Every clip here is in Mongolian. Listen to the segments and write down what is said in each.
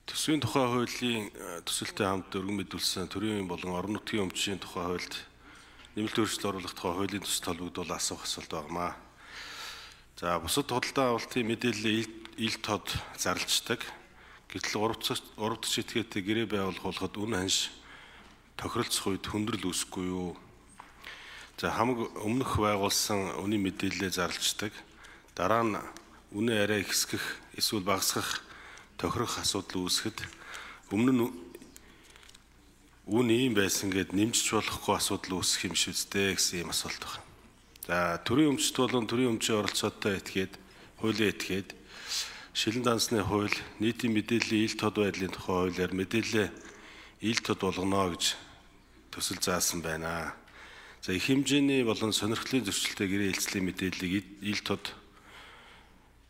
Төсвийн тухай хуулийн төсөлтэй хамт өргөн мэдүүлсэн төрийн болон орон нутгийн өмчийн тухай хуульд нэмэлт өөрчлөлт оруулах тухай хуулийн төсөлд холбогдвол асуух асуулт багмаа. За бусад худалдаа авалтын мэдээлэл ил тод зарлждаг. Гэтэл урав дахь этгээтэй гэрээ байгуулахад үн ханш тохиролцох үед хүндрэл үүсэхгүй юу? За хамаг өмнөх байгуулсан үнийн мэдээлэлээ зарлждаг. Дараа нь үнэ арай ихсгэх эсвэл багасгах тохирох асуудал үүсгэхэд өмнө нь үн ийм байсан гэд нэмжиж болохгүй асуудал үүсэх юм шиг үстэй гэсэн юм асуулт байна. За төрийн өмчт болон төрийн өмчийн оролцоотой этгээд хуулийн этгээд шилэн дансны хууль нийтийн мэдээллийн ил тод байдлын тухай хуулиар мэдээлэл ил тод болгоно гэж төсөл заасан байна. За их хэмжээний болон сонирхлын зөрчилтэй гэрээ хэлцлийн мэдээллийг ил тод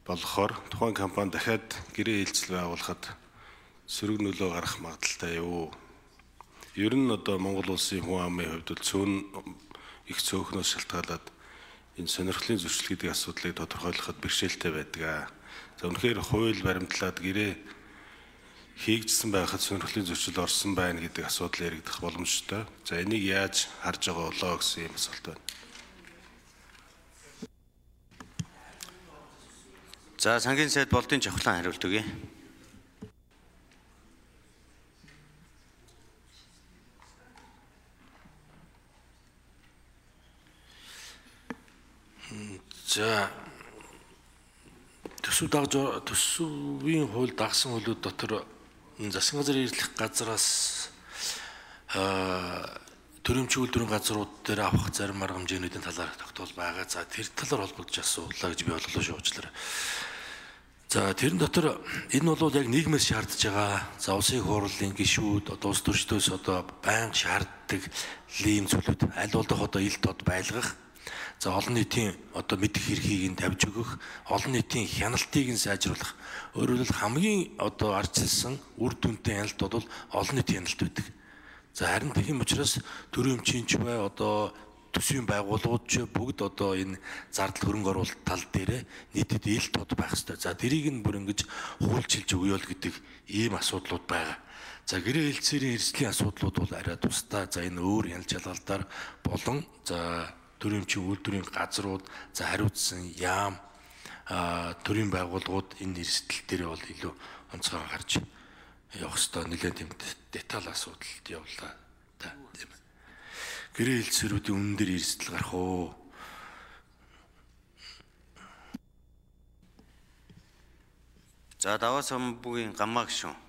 болохоор тухайн компани дахиад гэрээ хэлцэл байгуулахад сөрөг нөлөө гарах магадaltaй юу? Ер нь одоо Монгол улсын хүн амын хувьд цөөн их цөөхнөөс шалтгаалаад энэ сонирхлын зөрчил гэдэг асуудлыг тодорхойлоход бэрхшээлтэй байдаг. За үнэхээр хууль баримтлаад гэрээ хийгдсэн байхад сонирхлын зөрчил орсон байна гэдэг асуудал яригдах боломжтой. За энийг яаж харж байгаа болоо гэсэн юм асуулт байна. За сангийн сайд болдын жавхлан хариулт өгье. За төсвийн хууль дагсан хуулиуд дотор засгийн газрын эрхлэх газраас төрөмчийн үйлдвэрийн газрууд дээр авах зарим арга хэмжээнүүдийн талаар тогтоол байгаа. За тэр талаар холбогдож асуулаа гэж би бодлоо шүү уучлаарай. За тэрэн дотор энэ бол яг нийгмээс шаардж байгаа. За улсын хурлын гишүүд одоо улс төрчдөөс одоо байнга шаарддаг ийм зүйлүүд аль болох одоо ил тод байлгах. За олон нийтийн одоо мэдэх эрхийг нь тавьж өгөх, олон нийтийн хяналтыг нь сайжруулах. Өөрөөр хэлбэл хамгийн одоо ардчилсан үр дүнтэй хяналт бол олон нийтийн хяналт байдаг. За харин тийм учраас төрийн өмчийн ч бай одоо төсвийн байгууллагууд ч бүгд одоо энэ зардал хөрөнгө оруулалт тал дээр нийтэд ил тод байх ёстой. За тэрийг нь бүр ингэж хуулчилж өгөё л гэдэг ийм асуудлууд байгаа. За гэрээ хэлцээрийн эрсдлийн асуудлууд бол арай тусдаа. За энэ өөр хяналт шалгалтаар болон за төрийн өмчийн үйлдвэрийн газрууд за хариуцсан яам төрийн байгууллагууд энэ эрсдэл дээр бол илүү онцгой гарч явах ёстой. Нэлээд тийм деталь асуудалд явлаа та тийм. Гэрээ хэлцээрүүдийн үнэн дээр эрсдэл гарах уу? За даваа самбуугийн гамаа гишүүн.